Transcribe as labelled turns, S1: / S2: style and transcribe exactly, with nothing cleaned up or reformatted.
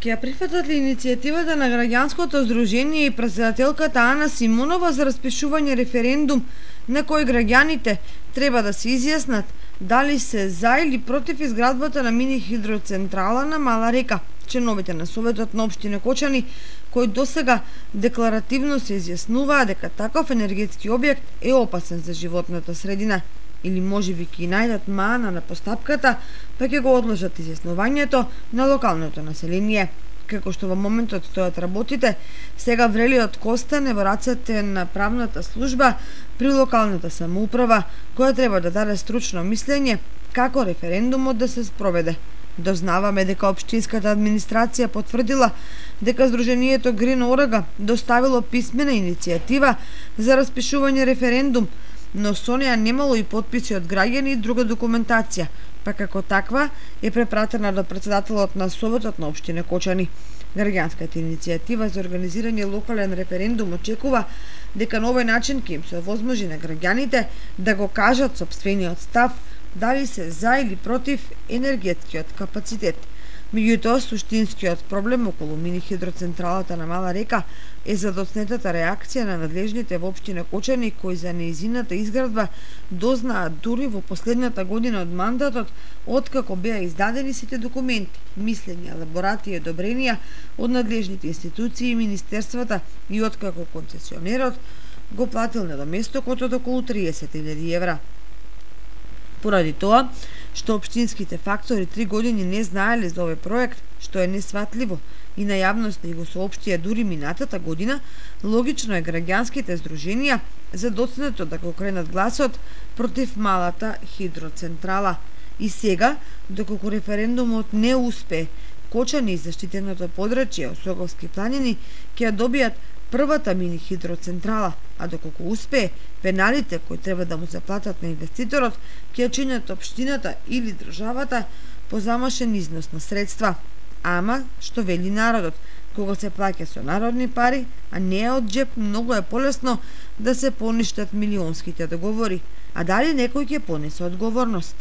S1: Ќе ја прифатат ли иницијативата на граѓанското здружение и претседателката Ана Симонова за распишување референдум на кој граѓаните треба да се изјаснат дали се за или против изградбата на мини хидроцентрала на Мала река? Членовите на Советот на општина Кочани, кои досега декларативно се изјаснуваа дека таков енергетски објект е опасен за животната средина, или можеби ќе најдат мана на постапката, па ќе го одложат изјаснувањето на локалното население. Како што во моментот стојат работите, сега врелиот костане во рацете на правната служба при локалната самоуправа, која треба да даде стручно мислење како референдумот да се спроведе. Дознаваме дека општинската администрација потврдила дека Сдруженијето Грин Орага доставило писмена иницијатива за распишување референдум, но со неа немало и потписи од граѓани и друга документација, па како таква е препратена до претседателот на Советот на општина Кочани. Граѓанската иницијатива за организирање локален референдум очекува дека на овој начин ќе им се овозможи на граѓаните да го кажат сопствениот став дали се за или против енергетскиот капацитет. Меѓутоа, суштинскиот проблем околу мини хидроцентралата на Мала река е задоцнетата реакција на надлежните во општина Кочани, кои за неизината изградба дознаат дури во последната година од мандатот, откако беа издадени сите документи, мислења, елаборати и одобренија од надлежните институции и министерствата и откако концесионерот го платил недоместокот од околу триесет илјади евра. Поради тоа, што општинските фактори три години не знаеле за овој проект, што е несватливо и на јавноста и го соопштија дури минатата година, логично е граѓанските здруженија задоцнето да го кренат гласот против малата хидроцентрала. И сега, доколку референдумот не успее, Кочани и заштитеното подрачје Осоговски планини ќе ја добијат првата мини хидроцентрала, а доколку успее, пеналите кои треба да му се платат на инвеститорот ќе чинат општината или државата по замашен износ на средства. Ама, што вели народот, кога се плаќа со народни пари, а не од джеп, многу е полесно да се поништат милионските договори. А дали некој ќе понесе одговорност?